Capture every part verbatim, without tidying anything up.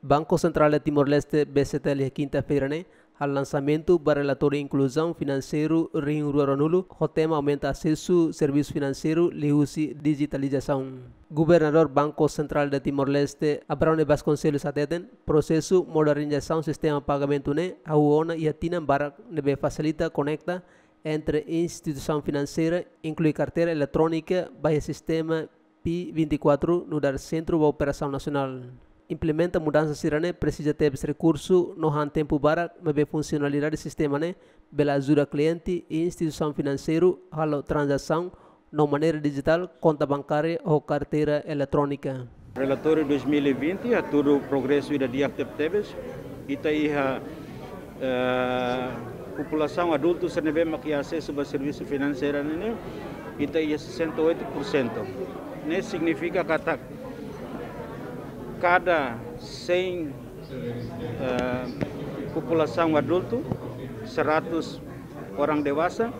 Banku Sentrál de Timor-Leste, B C T L, iha kinta-feira ne'e halo lansamentu ba relatóriu inkluzaun finanseiru rihun rua ruanulu, ho tema aumenta asesu servisu finanseiru liuhusi dijitalizasaun. Governadór Banku Sentrál de Timor-Leste, Abrão de Vasconcelos, hateten, prosesu modernizasaun sistema pagamentu ne'e hahú ona iha tinan barak, ne'ebé fasilita konekta entre instituisaun finanseira, inklui karteira eletrónika ba iha sistema P vinte e quatro, nu'udar Sentru ba Operasaun Nasionál. Implementa mudansa sira-ne'e presiza tebes rekursu no han tempu barak, maibé funsionalidade sistema ne'e bele ajuda kliente i instituisaun finanseiru halo tranzasaun no maneira dijitál, konta bankária ou karteira eletrónika. Relatóriu dois mil e vinte hatudu progresu ida di'ak tebetebes. Ita iha, eh, populasaun adultu sira ne'ebé mak iha asesu ba servisu finanseiru ne'e, ita iha sessenta e oito por cento. Ne'e signifika katak kada cem, eh, populasaun adultu, seratus orang dewasa,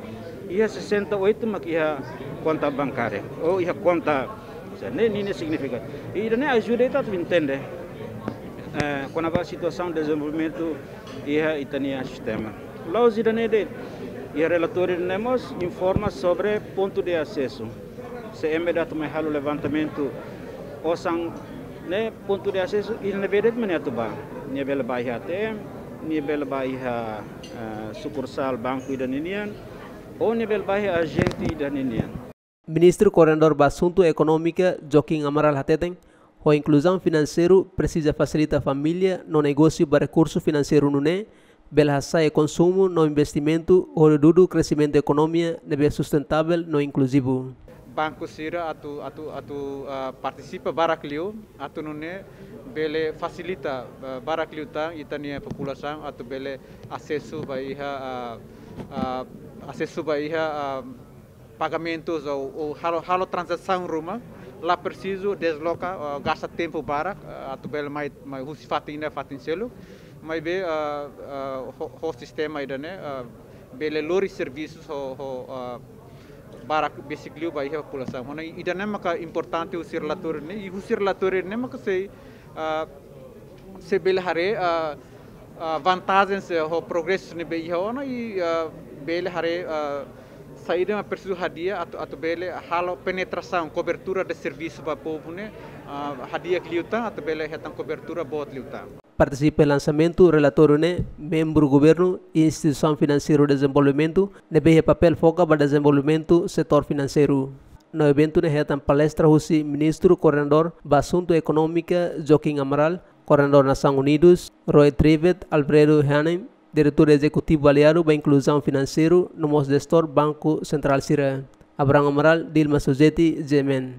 iha sessenta e oito mak iha konta bankária, ou iha konta, ne'e, ne'e, ne'e signifika. I ida-ne'e ajuda ita atu entende, eh, kona-ba situasaun dezenvolvimentu iha ita-nia sistema. La'ós ida-ne'e de'it, iha relatóriu ne'e mós informa sobre pontu de asesu. Se ema ida atu mai halo levantamentu osan ne'e, pontu de asesu ida ne'ebé de'it mak nia atu bá. Nia bele bá iha A T M, nia bele bá iha, eh, sukursál banku ida ninian, ou nia bele bá iha ajente ida ninian. Ministru Koordenadór ba Asuntu Ekonómika, Joaquim Amaral, hateten, ho inkluzaun finanseiru presiza fasilita família no negósiu ba rekursu finanseiru nune'e bele hasa'e konsumu no investimentu, hodi dudu kresimentu ekonomia ne'ebé sustentável no inkluzivu. Banku sira atu, atu, atu, ah, partisipa barak liu, atu nune'e bele fasilita, ah, barak liután ita-nia populasaun atu bele asesu ba iha, ah, ah, asesu ba iha, ah, pagamentus ou, ou halo, halo tranzasaun ruma, la presiza desloka, ah, gasta tempu barak, ah, atu bele mai, mai husi fatin ida ba fatin seluk, maibé, ah, ah, ho, ho sistema ida-ne'e, ah, bele lori servisus ho, ho, ah, barak besik liu ba iha populasaun. Ona ida-ne'e maka importante husi relatóriu ne'e, i husi relatóriu ne'e maka sei, ah, sei bele haree, ah, ah, vantajen, eh, ho progresu ne'ebé iha ona i, ah, bele haree, ah, saida mak presiza hadi'a atu, atu bele halo penetrasaun, kobertura de servisu ba povu ne'e, ah, hadi'a liután atu bele hetan kobertura boot liután. Partisipa iha lansamentu relatóriu ne'e membru governu, instituisaun finanseiru dezenvolvimentu ne'ebé iha papél foka ba dezenvolvimentu setór finanseiru. No eventu ne'e hetan palestra husi Ministru Koordenadór ba Asuntu Ekonómika, Joaquim Amaral, Koordenadór Nasaun Unidus, Roy Trivet, Alfredo Heanen, Diretór Ezekutivu aliadu ba Inkluzaun Finanseiru, no mós jestór Banku Sentrál sira. Abrão Amaral, Dilma Suzeti, G M N.